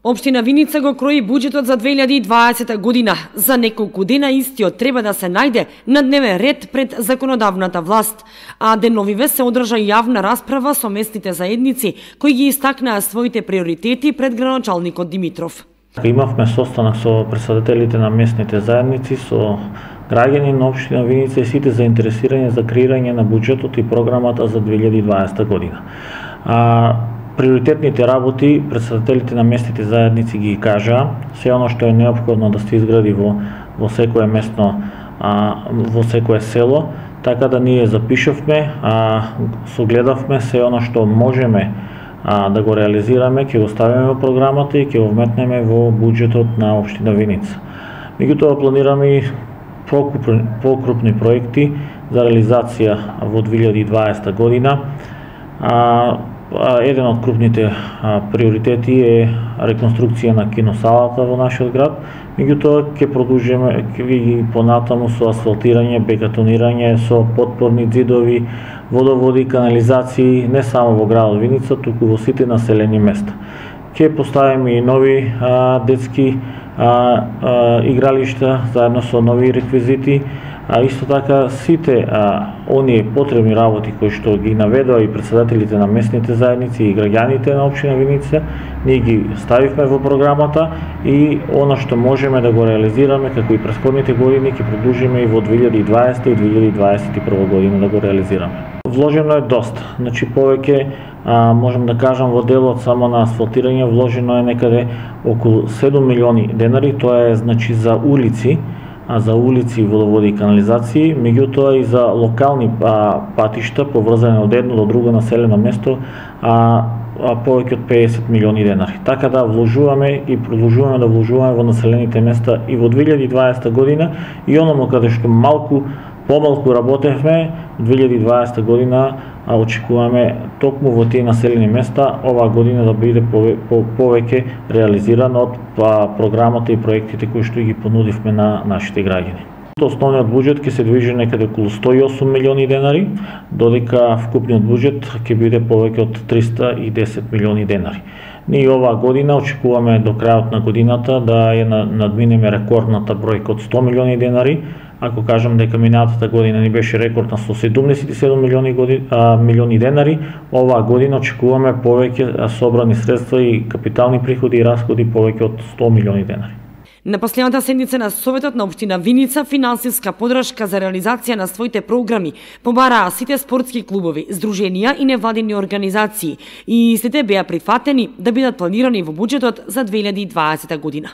Општина Виница го крои буџетот за 2020 година. За неколку дена истиот треба да се најде на дневен ред пред законодавната власт. А деновиве се одржа јавна расправа со местните заедници кои ги истакнаа своите приоритети пред градоначалникот Димитров. Имавме состанок со претседателите на местните заедници, со граѓани на општина Виница и сите заинтересирани за креирање на буџетот и програмата за 2020 година. Приоритетните работи претседателите на местните заедници ги кажаа, се оно што е неопходно да се изгради во секое местно, во секое село, така да ние запишавме, согледавме се оно што можеме да го реализираме, ќе го ставиме во програмата и ќе го вметнеме во буџетот на општина Виница. Меѓутоа планираме и покрупни проекти за реализација во 2020 година. Еден од крупните приоритети е реконструкција на киносалата во нашиот град, меѓутоа ќе продолжиме и понатаму со асфалтирање, бетонирање, со потпорни ѕидови, водоводи, канализации, не само во градот Виница, туку во сите населени места. Ќе поставиме и нови детски игралишта заедно со нови реквизити, исто така сите оние потребни работи кои што ги наведоа и претседателите на местните заедници и граѓаните на општина Виница, ние ги ставивме во програмата и она што можеме да го реализираме како и претходните години ќе продолжиме и во 2020 и 2021 година да го реализираме. Вложено е доста, значи повеќе можам да кажам во делот само на асфалтирање вложено е некаде околу 7 милиони денари, тоа е значи за улици, водоводи и канализации, меѓутоа и за локални патишта поврзани од едно до друго населено место, повеќе од 50 милиони денари. Така да вложуваме и продолжуваме да вложуваме во населените места и во 2020 година и ономо каде што помалку работевме, 2020 година очекуваме токму во тие населени места оваа година да биде повеќе реализирано од програмата и проектите кои што ги понудивме на нашите граѓани. Основниот буџет ќе се движи некаде околу 108 милиони денари, додека вкупниот буџет ќе биде повеќе од 310 милиони денари. Ние оваа година очекуваме до крајот на годината да ја надминеме рекордната бројка од 100 милиони денари. Ако кажам дека минатата година ни беше рекорд на 177 милиони денари, оваа година очекуваме повеќе собрани средства и капитални приходи и расходи повеќе од 100 милиони денари. На последната седница на Советот на општина Виница финансиска подршка за реализација на своите програми побараа сите спортски клубови, здруженија и невладини организации и сите беа прифатени да бидат планирани во буџетот за 2020 година.